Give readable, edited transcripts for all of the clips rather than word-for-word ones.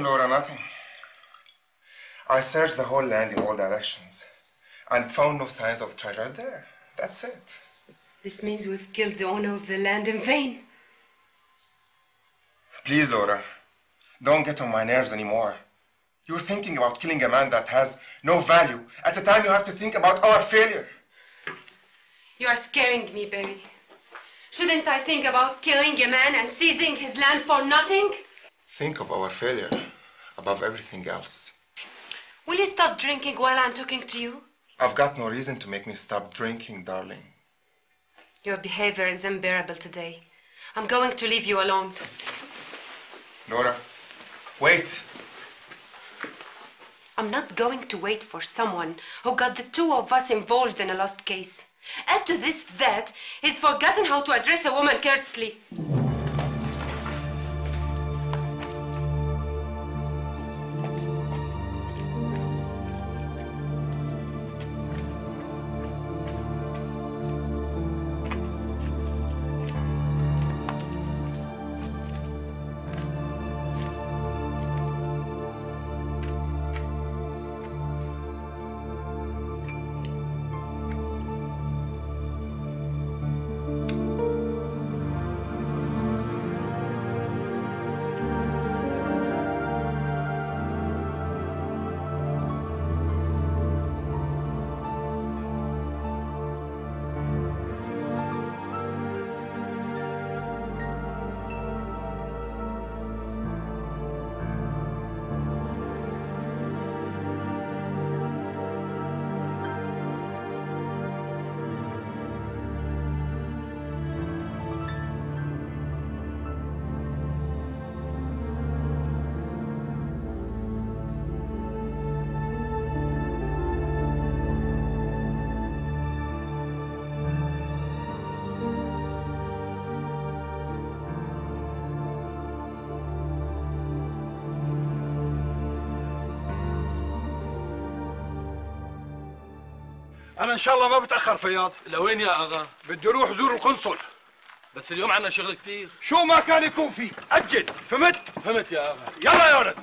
Laura, nothing. I searched the whole land in all directions and found no signs of treasure there. That's it. This means we've killed the owner of the land in vain. Please, Laura, don't get on my nerves anymore. You're thinking about killing a man that has no value at a time you have to think about our failure. You are scaring me, Barry. Shouldn't I think about killing a man and seizing his land for nothing? Think of our failure above everything else. Will you stop drinking while I'm talking to you? I've got no reason to make me stop drinking, darling. Your behavior is unbearable today. I'm going to leave you alone. Laura, wait. I'm not going to wait for someone who got the two of us involved in a lost case. Add to this that he's forgotten how to address a woman courteously. أنا إن شاء الله ما بتأخر فياض. لوين يا أغا؟ بدي أروح زور القنصل. بس اليوم عنا شغل كتير. شو ما كان يكون فيه، أجل، فهمت؟ فهمت يا أغا. يلا يا ولد.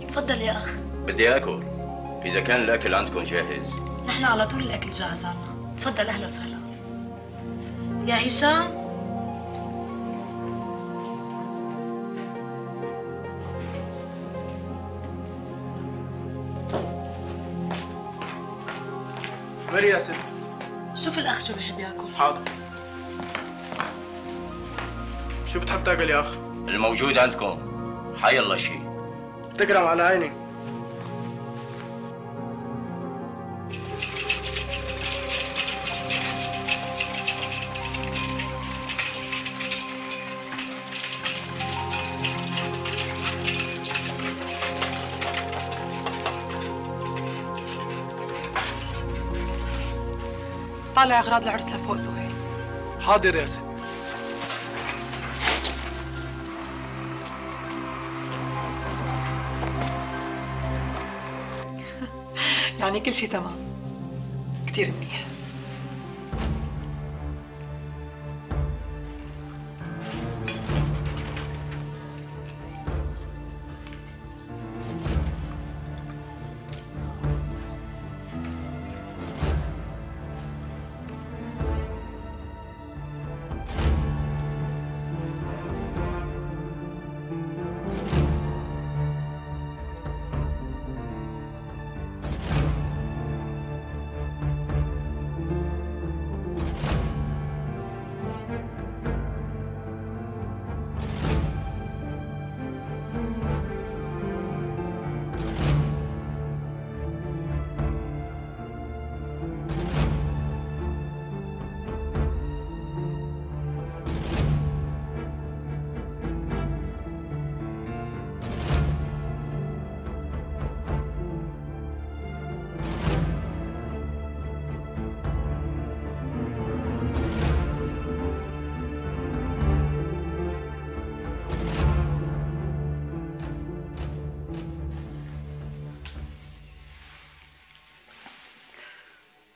تفضل يا أخ. بدي آكل. إذا كان الأكل عندكم جاهز. نحن على طول الأكل جاهز عنا. تفضل أهلا وسهلا. يا هشام. مري يا ست. شوف الأخ شو بحب ياكل. حاضر. شو بتحب تاكل يا أخ؟ الموجود عندكم. حي الله شيء. تكرم على عيني. طالع اغراض العرس لفوق سهيل. حاضر يا ست. يعني كل شيء تمام. كثير منيح.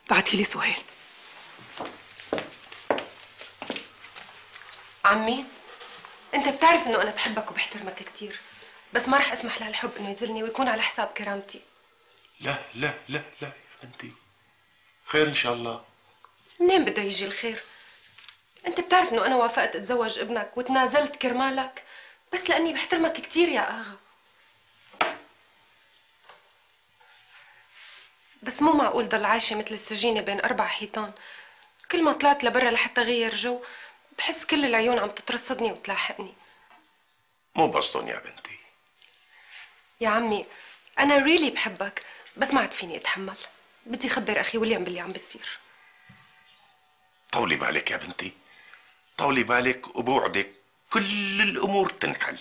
بعتي لي سهيل. عمي، انت بتعرف انه انا بحبك وبحترمك كتير، بس ما رح اسمح لهالحب انه يذلني ويكون على حساب كرامتي. لا لا لا لا يا بنتي، خير ان شاء الله. منين بده يجي الخير؟ انت بتعرف انه انا وافقت اتزوج ابنك وتنازلت كرمالك بس لاني بحترمك كتير يا اغا. بس مو معقول ضل عايشة مثل السجينة بين 4 حيطان. كل ما طلعت لبرا لحتى غير جو بحس كل العيون عم تترصدني وتلاحقني. مو بسطن يا بنتي. يا عمي أنا ريلي بحبك بس ما عاد فيني أتحمل. بدي أخبر أخي ويليام باللي عم بيصير. طولي بالك يا بنتي، طولي بالك وبوعدك كل الأمور تنحل.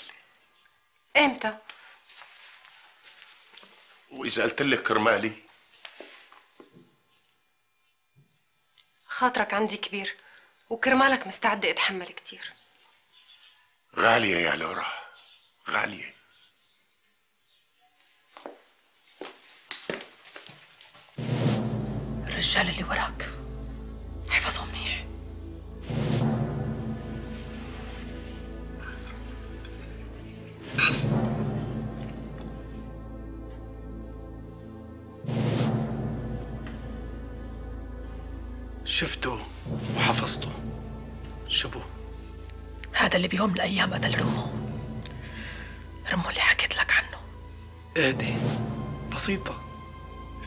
إمتى؟ وإذا قلت لك كرمالي؟ خاطرك عندي كبير وكرمالك مستعدة أتحمل كتير. غالية يا لورا، غالية. الرجال اللي وراك احفظهم منيح. شفته وحفظته. شبو؟ هذا اللي بيوم من الأيام قتل رمو. رمو اللي حكيت لك عنه. ايدي بسيطة،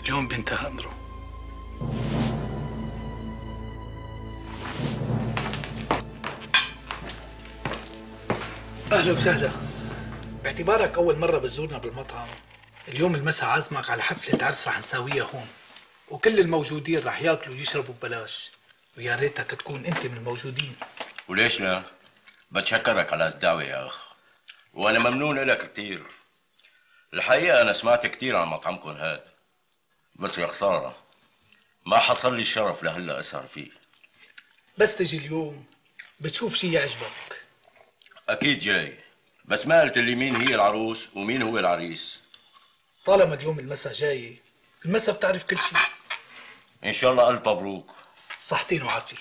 اليوم بينتهى أمره. أهلا وسهلا. باعتبارك أول مرة بتزورنا بالمطعم، اليوم المساء عازمك على حفلة عرس رح نساويها هون، وكل الموجودين رح ياكلوا ويشربوا ببلاش، ويا ريتك تكون أنت من الموجودين. وليش لا؟ بتشكرك على الدعوة يا أخ، وأنا ممنون لك كتير. الحقيقة أنا سمعت كتير عن مطعمكم هاد، بس يا خسارة ما حصل لي الشرف لهلا أسهر فيه. بس تجي اليوم بتشوف شي يعجبك. أكيد جاي، بس ما قلت لي مين هي العروس ومين هو العريس. طالما اليوم المساء جاي، المساء بتعرف كل شيء. إن شاء الله ألف مبروك. صحتين وعافية.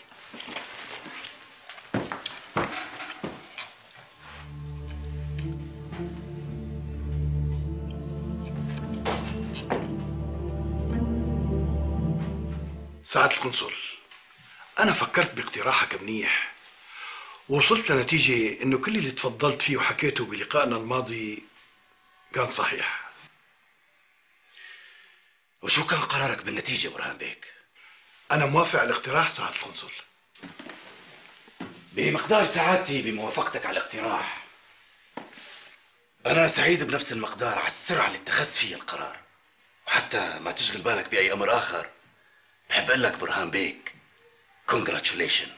سعادة القنصل، أنا فكرت باقتراحك منيح، ووصلت لنتيجة إنه كل اللي تفضلت فيه وحكيته بلقائنا الماضي كان صحيح. وشو كان قرارك بالنتيجة برهان بيك؟ أنا موافق على الاقتراح سعادة القنصل. بمقدار سعادتي بموافقتك على الاقتراح، أنا سعيد بنفس المقدار على السرعة اللي اتخذت فيها القرار، وحتى ما تشغل بالك بأي أمر آخر بحب أقول لك برهان بيك congratulations،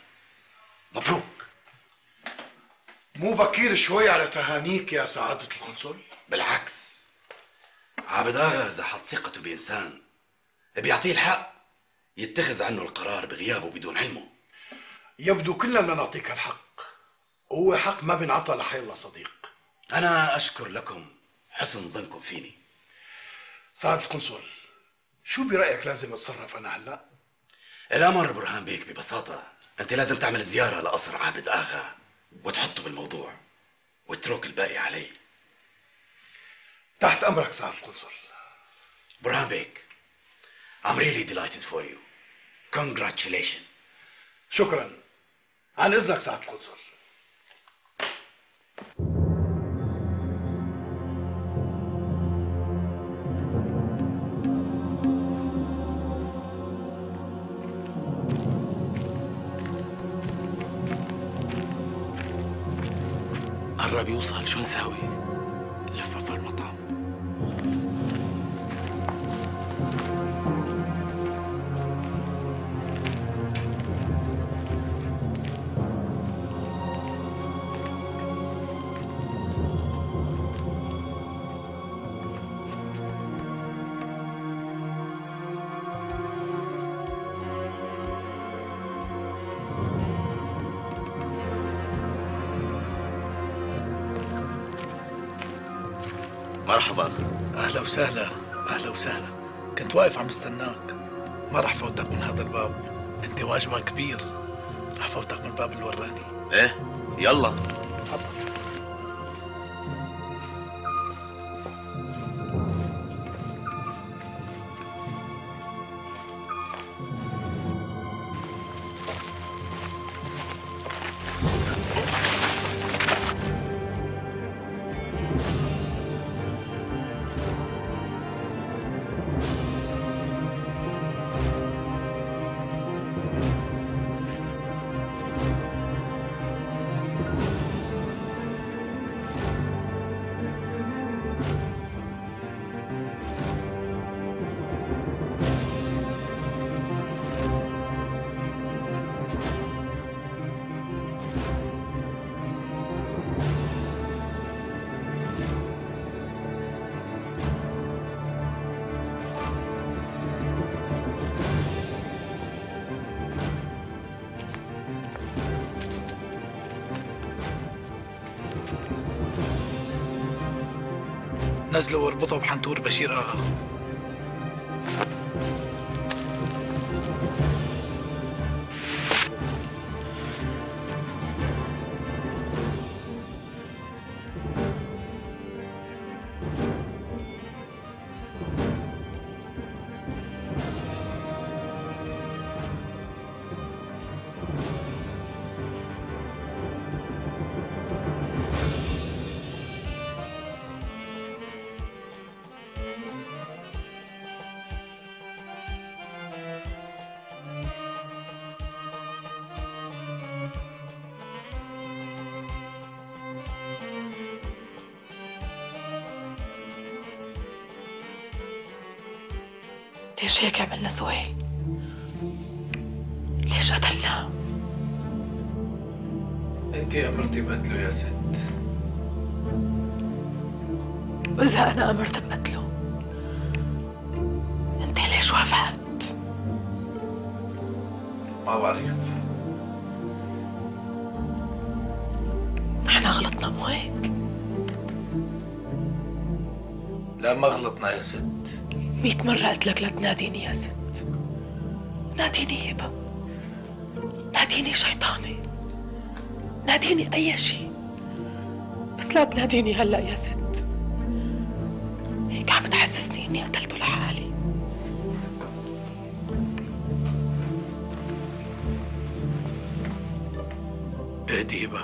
مبروك. مو بكير شوي على تهانيك يا سعادة القنصل؟ بالعكس، عابد آغا إذا حط ثقته بإنسان بيعطيه الحق يتخذ عنه القرار بغيابه بدون علمه. يبدو كلنا بدنا نعطيك الحق، وهو حق ما بينعطى لحي الله صديق. أنا أشكر لكم حسن ظنكم فيني. سعادة القنصل، شو برأيك لازم اتصرف أنا هلأ؟ الأمر برهان بيك ببساطة، أنت لازم تعمل زيارة لقصر عابد آغا وتحطه بالموضوع واترك الباقي علي. تحت أمرك سعادة القنصل. برهان بيك، I'm really delighted for you. Congratulations. شكرا. عن إذنك سعادة القنصل. قرب يوصل، شو نساوي؟ لفه في المطعم. مرحبا. اهلا وسهلا، اهلا وسهلا. كنت واقف عم استناك. ما رح فوتك من هذا الباب، انت واجبك كبير. رح فوتك من الباب اللي وراني. ايه يلا. نزله واربطه بحنطور بشير آغا. ليش هيك عملنا سهيل؟ ليش قتلناه؟ انت امرتي بقتله يا ست. وإذا أنا أمرت بقتله، أنت ليش وافقت؟ ما بعرف. نحن غلطنا مو هيك؟ لا ما غلطنا يا ست. 100 مرة قلت لك لا تناديني يا ست. ناديني هبة، ناديني شيطانة، ناديني أي شيء، بس لا تناديني هلأ يا ست. هيك عم تحسسني إني قتلته لحالي. اهدي هبة،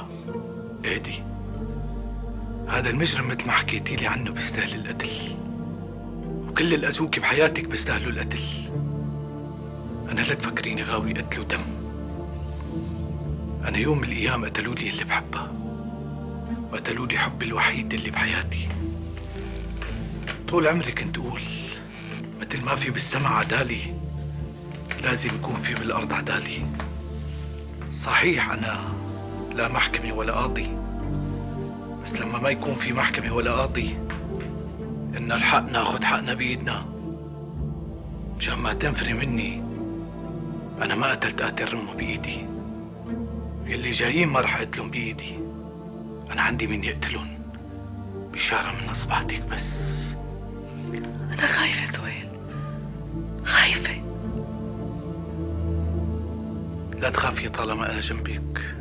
اهدي. هذا المجرم مثل ما حكيتي لي عنه بيستاهل القتل، وكل الأذوك بحياتك بيستاهلوا القتل. أنا لا تفكريني غاوي قتل ودم. أنا يوم من الأيام قتلوا لي اللي بحبها، وقتلوا لي حبي الوحيد اللي بحياتي. طول عمري كنت أقول مثل ما في بالسماء عدالي، لازم يكون في بالأرض عدالي. صحيح أنا لا محكمة ولا قاضي، بس لما ما يكون في محكمة ولا قاضي، إن الحق ناخد حقنا بإيدنا. مشان ما تنفري مني، أنا ما قتلت قاتل رمه بإيدي. يلي جايين ما رح أقتلهم بإيدي. أنا عندي مين يقتلهم بإشارة من أصبعتك بس. أنا خايفة سهيل، خايفة. لا تخافي طالما أنا جنبك.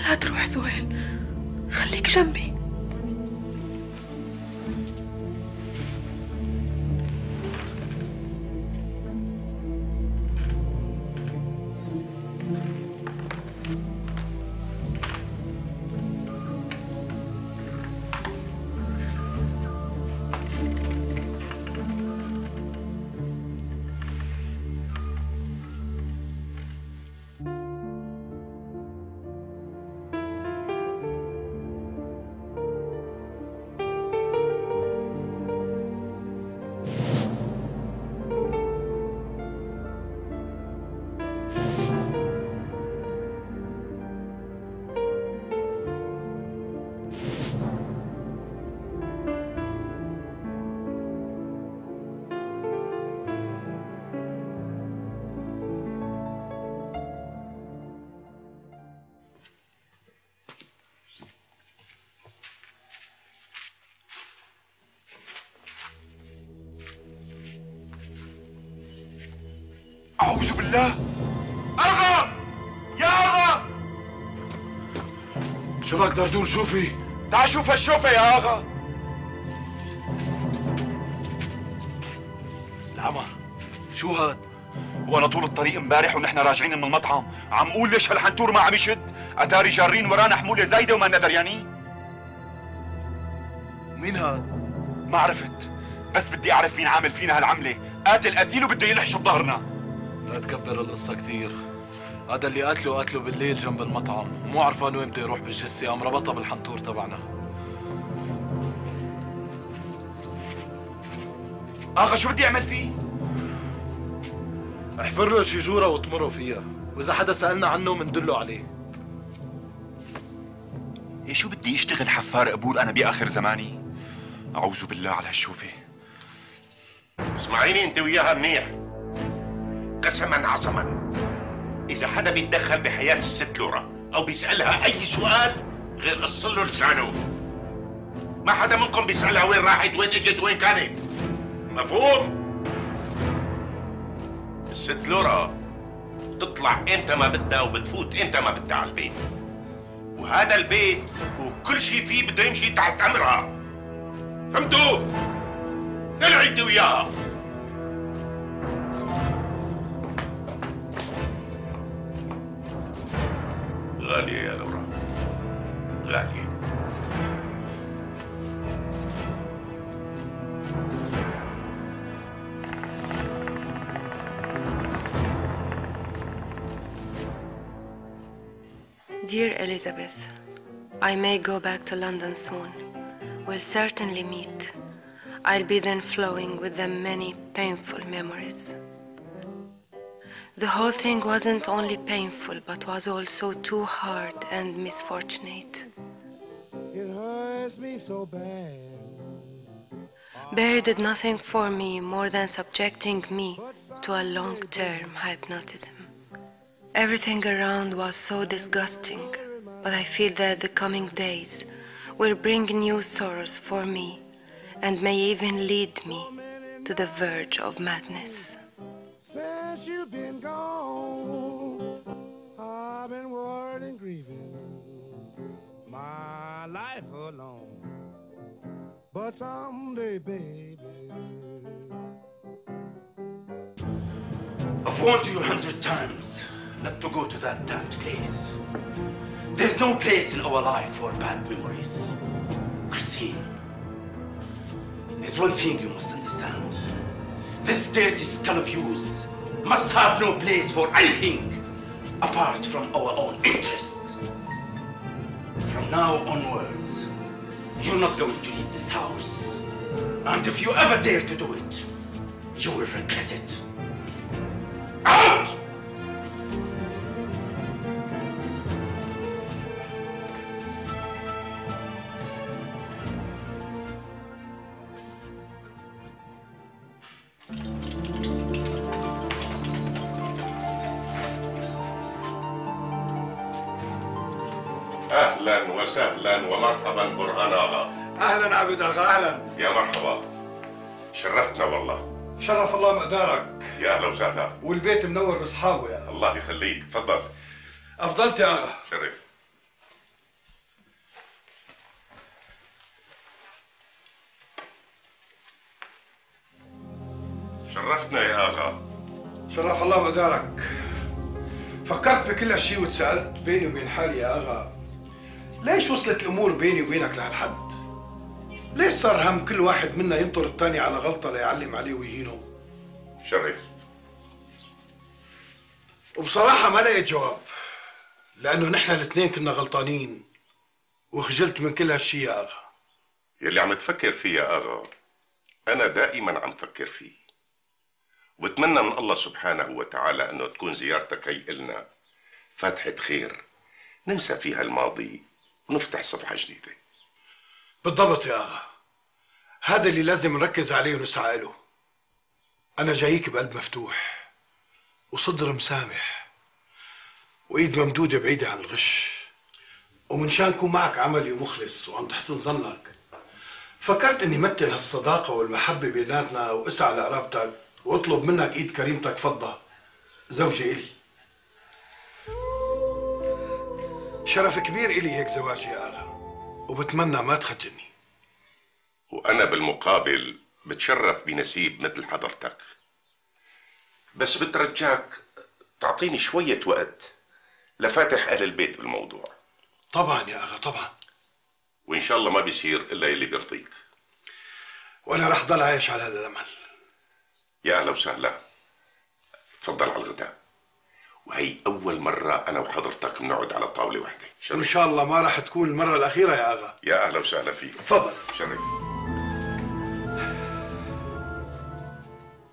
لا تروح سهيل، خليك جنبي. أعوذ بالله. أغا يا أغا، شو بدك دردور؟ شوفي تعال شوف هالشوفة يا أغا. العمر شو هاد؟ وانا طول الطريق امبارح ونحن راجعين من المطعم عم قول ليش هالحنتور ما عم يشد، اتاري جارين ورانا حمولة زايدة وما دريانين. مين هاد؟ ما عرفت، بس بدي اعرف مين عامل فينا هالعملة، قاتل قتيل وبده يلحش بظهرنا. لا تكبر القصة كثير، هذا اللي قتله بالليل جنب المطعم، مو عرفان وين بده يروح بالجثة، قام ربطها بالحنطور تبعنا. اغا شو بدي اعمل فيه؟ احفر له شي جورة واطمره فيها، واذا حدا سألنا عنه مندله عليه. إيه شو بدي اشتغل حفار قبور انا باخر زماني؟ اعوذ بالله على هالشوفة. اسمعيني انت وياها منيح، قسما عصما اذا حدا بيتدخل بحياة الست لورا او بيسألها اي سؤال غير قص له لسانه. ما حدا منكم بيسألها وين راحت، وين اجت، وين كانت. مفهوم؟ الست لورا بتطلع امتى ما بدها وبتفوت امتى ما بدها على البيت، وهذا البيت وكل شيء فيه بده يمشي تحت امرها. فهمتوا؟ العي انت وياها. غالية يا لورا، غالية. Dear Elizabeth, I may go back to London soon. We'll certainly meet. I'll be then flowing with the many painful memories. The whole thing wasn't only painful, but was also too hard and misfortunate. It hurts me so bad. Barry did nothing for me more than subjecting me to a long-term hypnotism. Everything around was so disgusting, but I feel that the coming days will bring new sorrows for me and may even lead me to the verge of madness. Since you've been gone, I've been worried and grieving my life alone. But someday, baby, I've warned you 100 times not to go to that damned place. There's no place in our life for bad memories. Christine, there's one thing you must understand. This dirty skull of yours must have no place for anything apart from our own interest. From now onwards, you're not going to leave this house. And if you ever dare to do it, you will regret it. Out! اهلا وسهلا ومرحبا برهان اغا. اهلا عبد اغا، اهلا. يا مرحبا، شرفتنا والله. شرف الله مقدارك. يا اهلا وسهلا. والبيت منور باصحابه يا الله يخليك، تفضل. افضلت يا اغا. شرف. شرفتنا يا اغا. شرف الله مقدارك. فكرت بكل هالشيء وتساءلت بيني وبين حالي يا اغا، ليش وصلت الامور بيني وبينك لهالحد؟ ليش صار هم كل واحد منا ينطر الثاني على غلطه ليعلم عليه ويهينه؟ شرف. وبصراحه ما لقيت جواب، لانه نحن الاثنين كنا غلطانين، وخجلت من كل هالشيء يا اغا. يلي عم تفكر فيه يا اغا انا دائما عم فكر فيه، وبتمنى من الله سبحانه وتعالى انه تكون زيارتك هي إلنا فتحة خير ننسى فيها الماضي ونفتح صفحة جديدة. بالضبط يا اغا، هذا اللي لازم نركز عليه ونسعى له. انا جايك بقلب مفتوح وصدر مسامح وايد ممدودة بعيدة عن الغش، ومن شان كون معك عملي ومخلص وعند حسن ظنك فكرت اني مثل هالصداقة والمحبة بيناتنا واسعى لقرابتك واطلب منك ايد كريمتك فضة زوجة إلي. شرف كبير إلي هيك زواج يا آغا، وبتمنى ما تخجلني. وأنا بالمقابل بتشرف بنسيب مثل حضرتك، بس بترجاك تعطيني شوية وقت لفاتح أهل البيت بالموضوع. طبعا يا أغا طبعا، وإن شاء الله ما بيصير إلا اللي بيرضيك. وأنا رح ضل عايش على هذا الأمل. يا أهلا وسهلا، تفضل على الغداء. وهي أول مرة أنا وحضرتك بنقعد على طاولة واحدة. إن شاء الله ما رح تكون المرة الأخيرة يا أغا. يا أهلا وسهلا فيك. تفضل. شرف.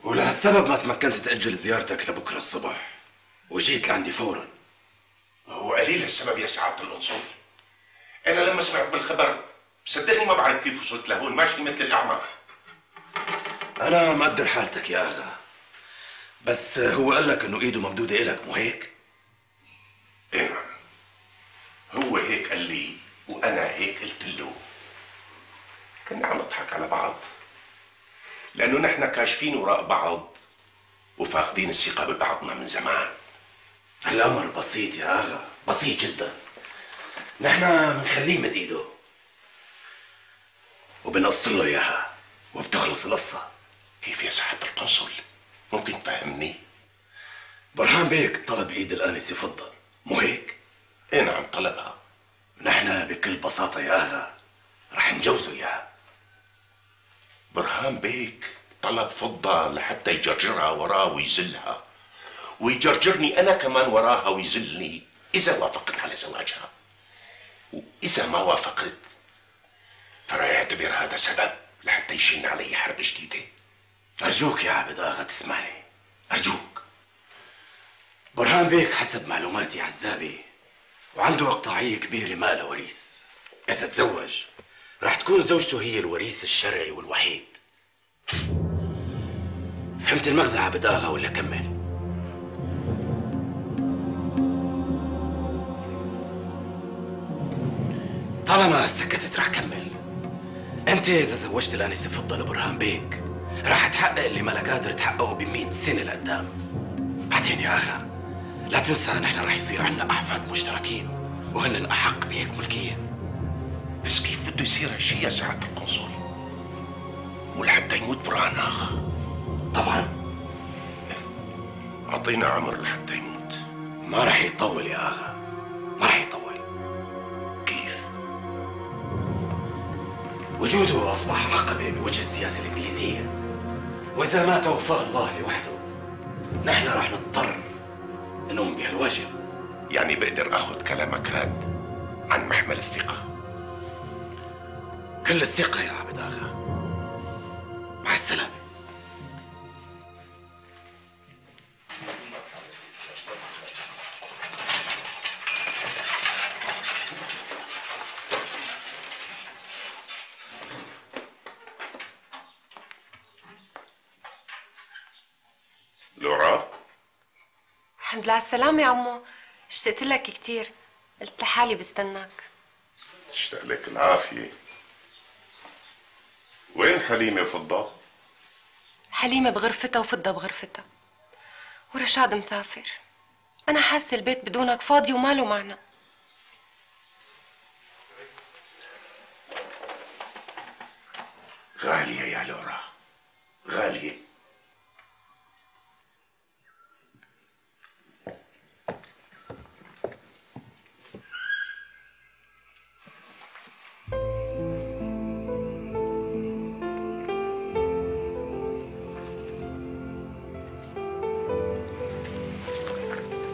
ولهالسبب ما تمكنت تأجل زيارتك لبكرة الصبح وجيت لعندي فورا. هو قليل السبب يا سعادة القنصل. أنا لما سمعت بالخبر صدقني ما بعرف كيف وصلت لهون، ماشي مثل الأعمى. أنا مقدر حالتك يا أغا، بس هو قال لك إنه إيده ممدودة إلك، مو هيك؟ إيه نعم، هو هيك قال لي وأنا هيك قلت له. كنا عم نضحك على بعض لأنه نحن كاشفين وراء بعض وفاقدين الثقة ببعضنا من زمان. الأمر بسيط يا أغا، بسيط جدا. نحن بنخليه مد إيده وبنقص له إياها وبتخلص القصة. كيف يا سعادة القنصل؟ ممكن تفهمني؟ برهان بيك طلب إيد الآنسة فضة، مو هيك؟ إيه نعم طلبها. نحن بكل بساطة يا أغا رح نجوزه إياها. برهان بيك طلب فضة لحتى يجرجرها وراه ويزلها، ويجرجرني أنا كمان وراها ويزلني إذا وافقت على زواجها. وإذا ما وافقت فرح يعتبر هذا سبب لحتى يشن علي حرب جديدة. أرجوك يا عبد آغا تسمعني، أرجوك. برهان بيك حسب معلوماتي عزابي وعنده إقطاعية كبيرة ما لها وريث. إذا تزوج رح تكون زوجته هي الوريث الشرعي والوحيد. فهمت المغزى عبد آغا ولا كمل؟ طالما سكتت رح كمل. انت اذا زوجت الانسه فضه لبرهان بيك رح تحقق اللي ما لك قادر تحققه ب100 سنه لقدام. بعدين يا اخا لا تنسى نحن رح يصير عنا احفاد مشتركين وهن احق بهيك ملكيه. بس كيف بده يصير هالشيء يا سعادة القنصل؟ ولحتى يموت برهان آغا؟ طبعا أعطينا عمر لحتى يموت. ما رح يطول يا اخا، ما رح يطول. وجوده أصبح عقبة بوجه السياسة الإنجليزية، وإذا ما توفاه الله لوحده نحن رح نضطر نقوم بهالواجب. يعني بقدر أخذ كلامك هاد عن محمل الثقة؟ كل الثقة يا عبد آغا. مع السلامة. لورا، الحمد لله على السلامة يا عمو. اشتقت لك كتير، قلت لحالي بستناك. تشتاق لك العافية. وين حليمة وفضة؟ حليمة بغرفتها وفضة بغرفتها، ورشاد مسافر. أنا حاسة البيت بدونك فاضي وماله معنى. غالية يا لورا، غالية.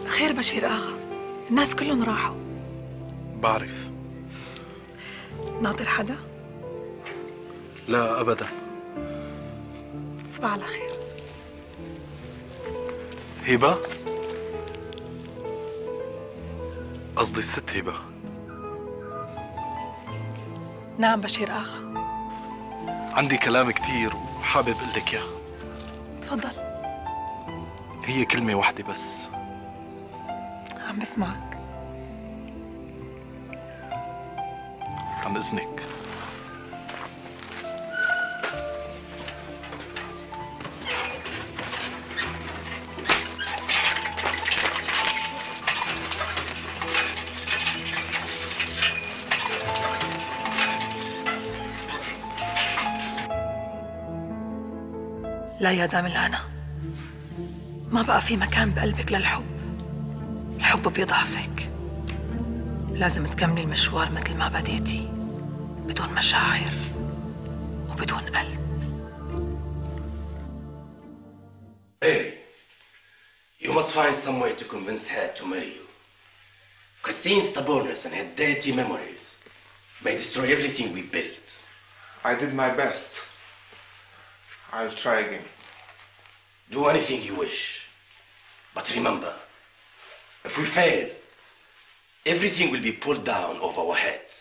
خير بشير آغا، الناس كلهم راحوا. بعرف. ناطر حدا؟ لا أبدا. تصبح على خير. هبة؟ قصدي الست هبة. نعم بشير آغا. عندي كلام كتير وحابب أقول لك إياه. تفضل. هي كلمة واحدة بس. عم بسمعك. عن إذنك. لا يا داملانا، ما بقى في مكان بقلبك للحب. الحب بيضعفك. لازم تكملي المشوار مثل ما بديتي، بدون مشاعر وبدون قلب. Mary, you must find some way to convince her to marry you. Christine's stubbornness and her dirty memories may destroy everything we built. I did my best. I'll try again. Do anything you wish. But remember, if we fail, everything will be pulled down over our heads.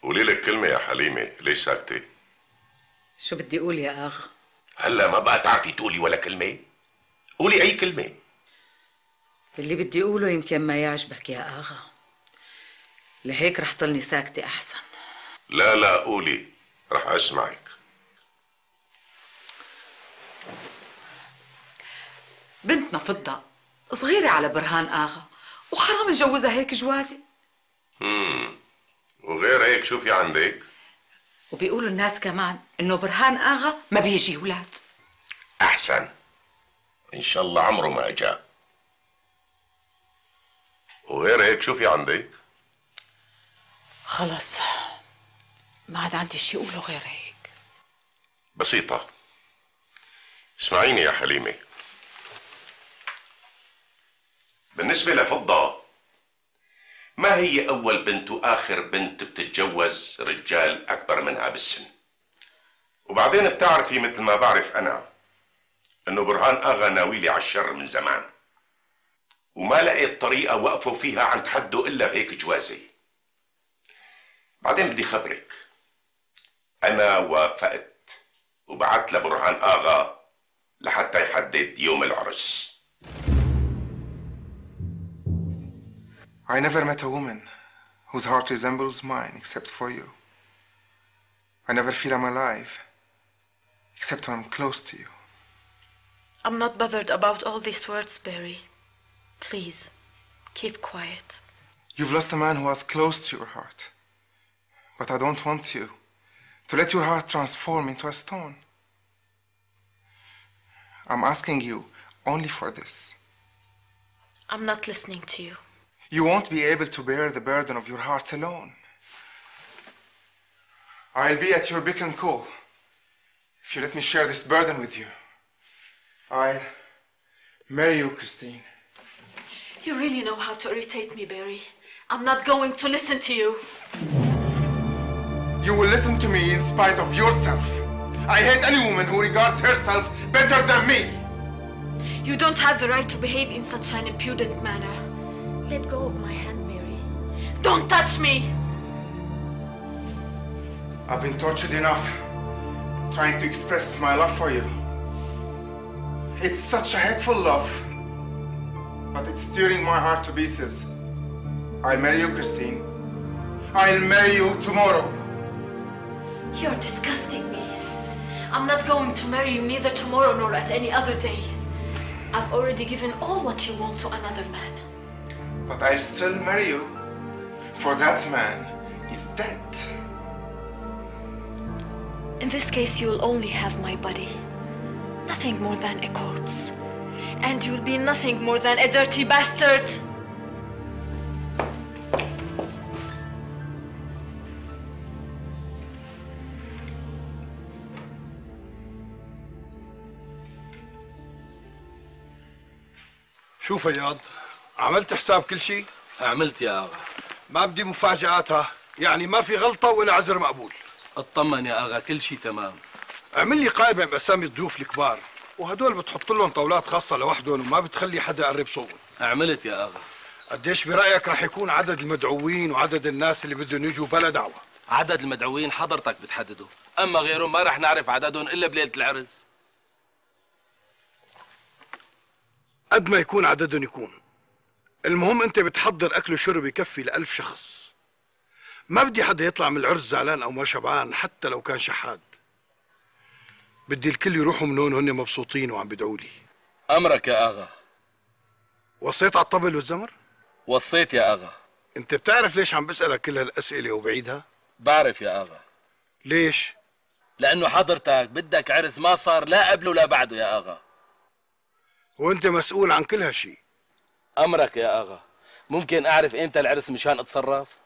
قولي لك كلمة يا حليمة، ليش ساكتة؟ شو بدي أقول يا أغا؟ هلا ما بقى تعرفي تقولي ولا كلمة؟ قولي أي كلمة. اللي بدي أقوله يمكن ما يعجبك يا أغا، لهيك رح ضلني ساكتة أحسن. لا قولي، رح أسمعك. بنتنا فضة صغيرة على برهان آغا، وحرام نجوزها هيك جوازي. وغير هيك شو في عندك؟ وبيقولوا الناس كمان إنه برهان آغا ما بيجي أولاد. أحسن، إن شاء الله عمره ما جاء. وغير هيك شو في عندك؟ خلص ما عاد عندي شيء أقوله غير هيك. بسيطة. اسمعيني يا حليمة، بالنسبة لفضة ما هي أول بنت وآخر بنت بتتجوز رجال أكبر منها بالسن. وبعدين بتعرفي مثل ما بعرف أنا إنه برهان آغا ناويلي على الشر من زمان، وما لقيت طريقة وقفوا فيها عند حده إلا بهيك جوازي. بعدين بدي خبرك، أنا وافقت وبعت لبرهان آغا لحتى يحدد يوم العرس. I never met a woman whose heart resembles mine except for you. I never feel I'm alive except when I'm close to you. I'm not bothered about all these words, Barry. Please, keep quiet. You've lost a man who was close to your heart. But I don't want you to let your heart transform into a stone. I'm asking you only for this. I'm not listening to you. You won't be able to bear the burden of your heart alone. I'll be at your beck and call if you let me share this burden with you. I'll marry you, Christine. You really know how to irritate me, Barry. I'm not going to listen to you. You will listen to me in spite of yourself. I hate any woman who regards herself better than me. You don't have the right to behave in such an impudent manner. Let go of my hand, Mary. Don't touch me! I've been tortured enough trying to express my love for you. It's such a hateful love, but it's tearing my heart to pieces. I'll marry you, Christine. I'll marry you tomorrow. You're disgusting me. I'm not going to marry you neither tomorrow nor at any other day. I've already given all what you want to another man. But I'll still marry you, for that man is dead. In this case, you'll only have my body. Nothing more than a corpse. And you'll be nothing more than a dirty bastard. شو فياض؟ عملت حساب كل شيء؟ عملت يا اغا. ما بدي مفاجآتها، يعني ما في غلطة ولا عذر مقبول. اطمن يا اغا، كل شيء تمام. اعمل لي قائمة بأسامي الضيوف الكبار، وهدول بتحط لهم طاولات خاصة لوحدهم وما بتخلي حدا يقرب صوبهم. عملت يا اغا. قديش برأيك رح يكون عدد المدعوين وعدد الناس اللي بدهم يجوا بلا دعوة؟ عدد المدعوين حضرتك بتحدده، اما غيرهم ما رح نعرف عددهم الا بليلة العرس. قد ما يكون عددهم يكون، المهم انت بتحضر اكل وشرب يكفي ل1000 شخص. ما بدي حدا يطلع من العرس زعلان او ما شبعان حتى لو كان شحاد. بدي الكل يروحوا من هون وهن مبسوطين وعم بيدعوا لي. أمرك يا أغا. وصيت على الطبل والزمر؟ وصيت يا أغا. انت بتعرف ليش عم بسألك كل هالأسئلة وبعيدها؟ بعرف يا أغا. ليش؟ لأنه حضرتك بدك عرس ما صار لا قبله ولا بعده يا أغا. وانت مسؤول عن كل هالشي. أمرك يا أغا. ممكن أعرف إمتى العرس مشان أتصرف؟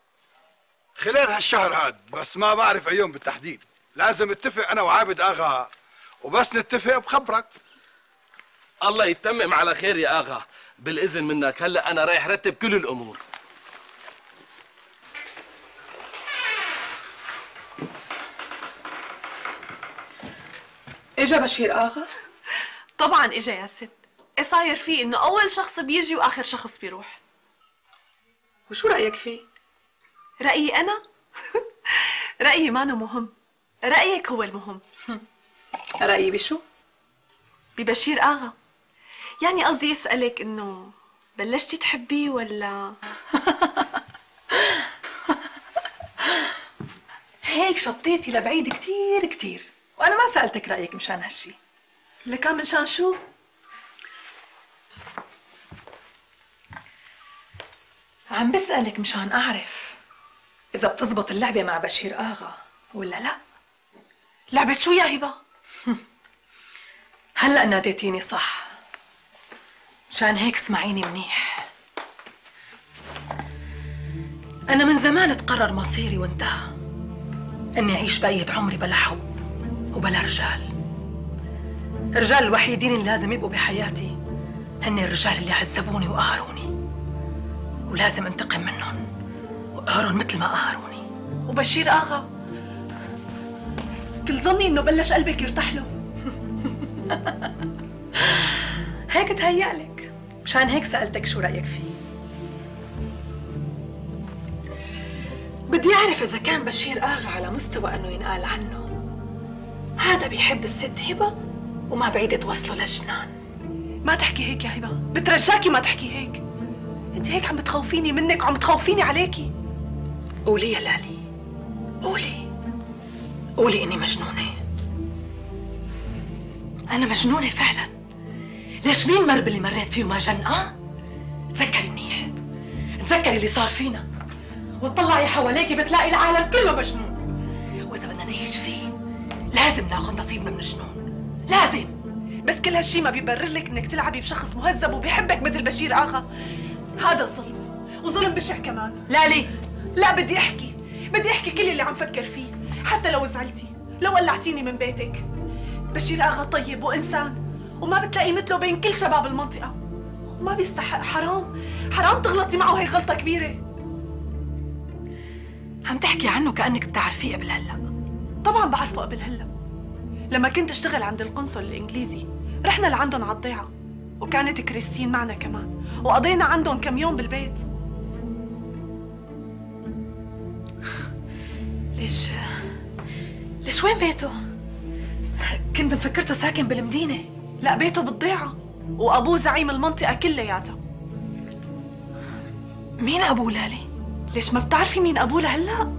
خلال هالشهر هاد، بس ما بعرف أيام بالتحديد. لازم اتفق أنا وعابد أغا، وبس نتفق بخبرك. الله يتمم على خير يا أغا. بالإذن منك هلأ أنا رايح رتب كل الأمور. اجا بشير آغا؟ طبعا اجا يا ست. ايه صاير فيه انه اول شخص بيجي واخر شخص بيروح؟ وشو رأيك فيه؟ رأيي انا؟ رأيي مانو مهم، رأيك هو المهم. رأيي بشو؟ ببشير آغا. يعني قصدي اسألك انه بلشتي تحبيه ولا؟ هيك شطيتي لبعيد كتير كتير، وانا ما سألتك رأيك مشان هالشي. لكان مشان شو؟ عم بسألك مشان أعرف إذا بتزبط اللعبة مع بشير آغا ولا لا. لعبة شو يا هبة؟ هلأ ناديتيني صح، مشان هيك اسمعيني منيح. أنا من زمان تقرر مصيري وانتهى، إني أعيش بقية عمري بلا حب وبلا رجال. الرجال الوحيدين اللي لازم يبقوا بحياتي هن الرجال اللي عذبوني وقهروني، ولازم انتقم منهم وقهرهم مثل ما قهروني. وبشير آغا كل ظني انه بلش قلبك يرتاح له. هيك تهيألك، مشان هيك سألتك شو رأيك فيه. بدي أعرف إذا كان بشير آغا على مستوى إنه ينقال عنه هذا بيحب الست هبة وما بعيد توصله للجنان. ما تحكي هيك يا هبة، بترجاكي ما تحكي هيك. انت هيك عم بتخوفيني منك وعم بتخوفيني عليكي. قولي يا لالي، قولي إني مجنونة. أنا مجنونة فعلا. ليش مين مر باللي مريت فيه وما جن؟ تذكري منيح، تذكري اللي صار فينا، وتطلعي حواليكي بتلاقي العالم كله مجنون. وإذا بدنا نعيش فيه لازم ناخذ نصيبنا من الجنون، لازم. بس كل هالشي ما بيبرر لك انك تلعبي بشخص مهذب وبيحبك مثل بشير آغا. هذا ظلم، وظلم بشع كمان. لالي لا، بدي احكي كل اللي عم فكر فيه، حتى لو زعلتي، لو قلعتيني من بيتك. بشير آغا طيب وإنسان، وما بتلاقي مثله بين كل شباب المنطقة، وما بيستحق. حرام تغلطي معه، هي غلطة كبيرة. عم تحكي عنه كأنك بتعرفيه قبل هلا. طبعا بعرفه قبل هلا. لما كنت اشتغل عند القنصل الإنجليزي رحنا لعندهم على الضيعة، وكانت كريستين معنا كمان، وقضينا عندهم كم يوم بالبيت. ليش وين بيته؟ كنت مفكرته ساكن بالمدينة. لا، بيته بالضيعة، وأبوه زعيم المنطقة كلياتها. مين أبوه لالي؟ ليش ما بتعرفي مين أبوه لهلا؟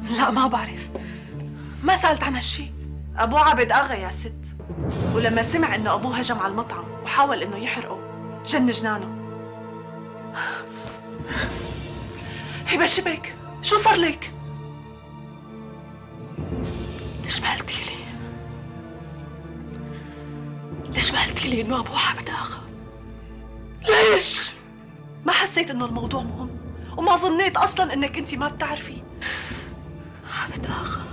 لا ما بعرف، ما سألت عن هالشي. أبوه عابد آغا يا ست، ولما سمع إنه أبوه هجم على المطعم وحاول إنه يحرقه جن جنانه. هبة شبك، شو صار لك؟ ليش ما قلتي لي؟ ليش ما قلتي لي إنه أبوه عابد آغا؟ ليش؟ ما حسيت إنه الموضوع مهم، وما ظنيت أصلاً إنك أنت ما بتعرفي. عابد آغا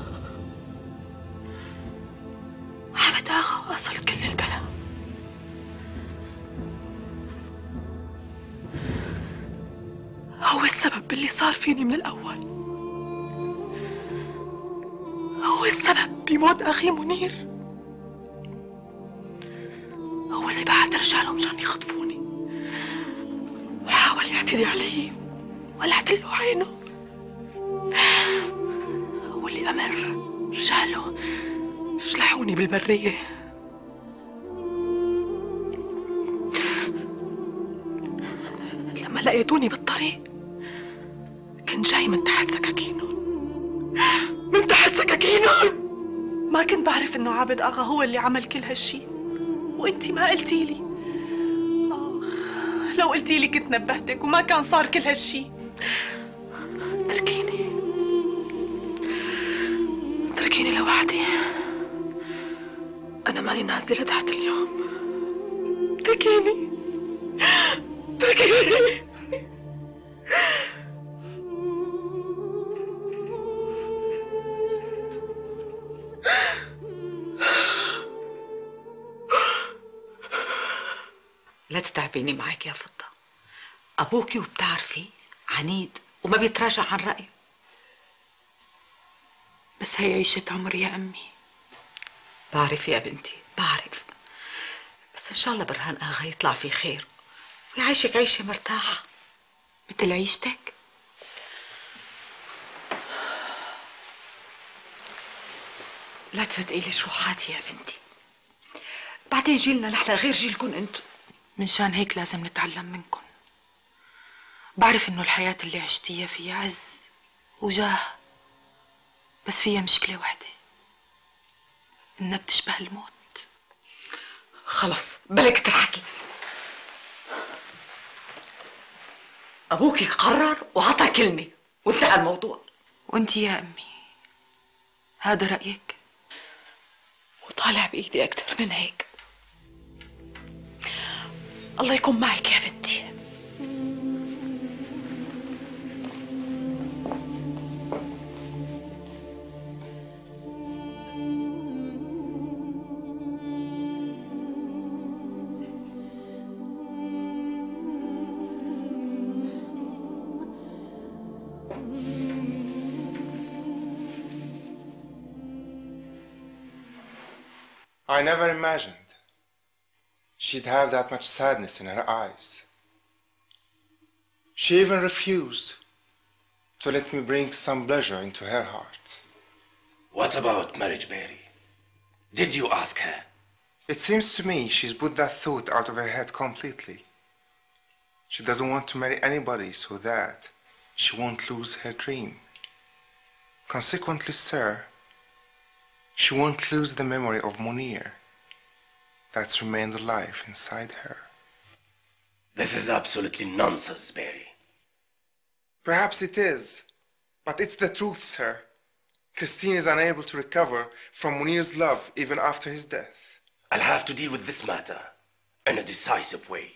وصل كل البلا. هو السبب باللي صار فيني من الأول، هو السبب بموت أخي منير، هو اللي بعت رجاله مشان يخطفوني، وحاول يعتدي علي ولعت له عينه، هو اللي أمر رجاله شلحوني بالبرية. لما لقيتوني بالطريق كنت جاي من تحت سكاكينهم، ما كنت بعرف إنه عابد آغا هو اللي عمل كل هالشي، وانتي ما قلتي لي. لو قلتي لي كنت نبهتك وما كان صار كل هالشي. تركيني لوحدي، أنا ماني نازلة لتحت اليوم. تركيني. لا تتعبيني معك يا فضة. أبوكي وبتعرفي عنيد وما بيتراجع عن رأيه. بس هي عيشة عمر يا أمي. بعرف يا بنتي، بعرف، بس إن شاء الله برهان آغا يطلع في خير ويعيشك عيشة مرتاحة مثل عيشتك. لا تصدقي لي شروحاتي يا بنتي، بعدين جيلنا نحن غير جيلكن انتو. منشان هيك لازم نتعلم منكن. بعرف إنه الحياة اللي عشتيها فيها عز وجاه، بس فيها مشكلة وحدة، إنها بتشبه الموت. خلص بلك تحكي. أبوكي قرر وعطى كلمة وانتهى الموضوع. وانتي يا أمي هذا رأيك؟ وطالع بإيدي أكثر من هيك. الله يكون معك يا بنتي. I never imagined she'd have that much sadness in her eyes. She even refused to let me bring some pleasure into her heart. What about marriage, Mary? Did you ask her? It seems to me she's put that thought out of her head completely. She doesn't want to marry anybody so that she won't lose her dream. Consequently, sir, she won't lose the memory of Munir that's remained alive inside her. This is absolutely nonsense, Mary. Perhaps it is, but it's the truth, sir. Christine is unable to recover from Munir's love even after his death. I'll have to deal with this matter in a decisive way.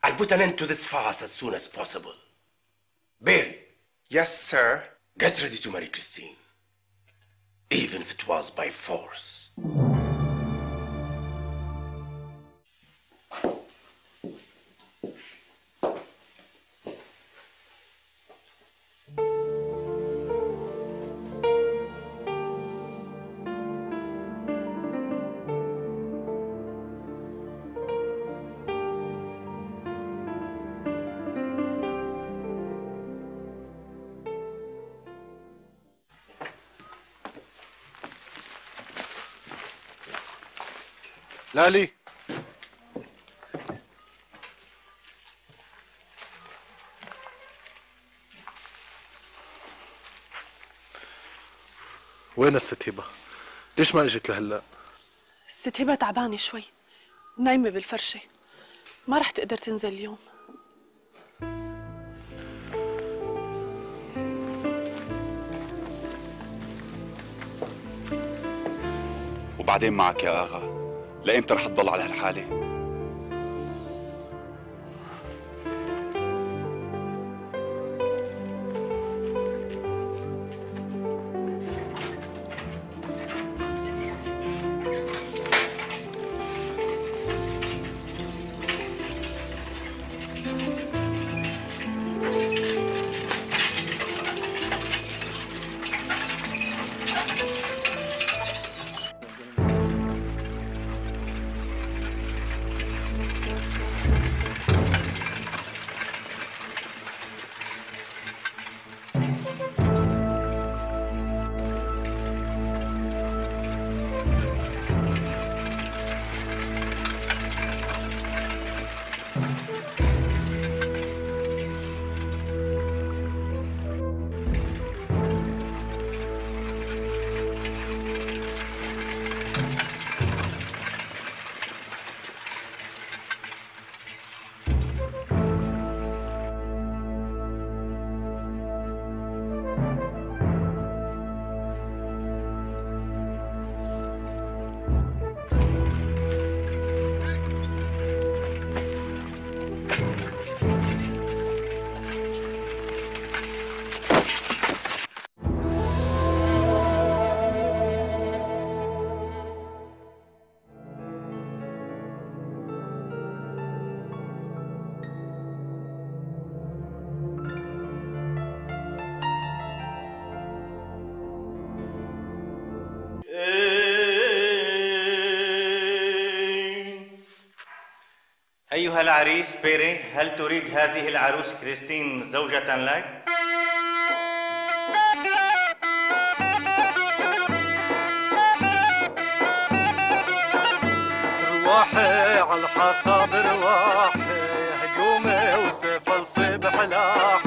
I'll put an end to this farce as soon as possible. Barry. Yes, sir. Get ready to marry Christine, even if it was by force. لالي، وين الست هبة؟ ليش ما اجت لهلا؟ الست هبة تعبانة شوي، نايمة بالفرشة، ما رح تقدر تنزل اليوم. وبعدين معك يا آغا، لإمتى رح تضل على هالحالة؟ أيها العريس بيري، هل تريد هذه العروس كريستين زوجة لك؟ رواحي على الحصى برواحي، هجومي وسيف الصبح لاحي.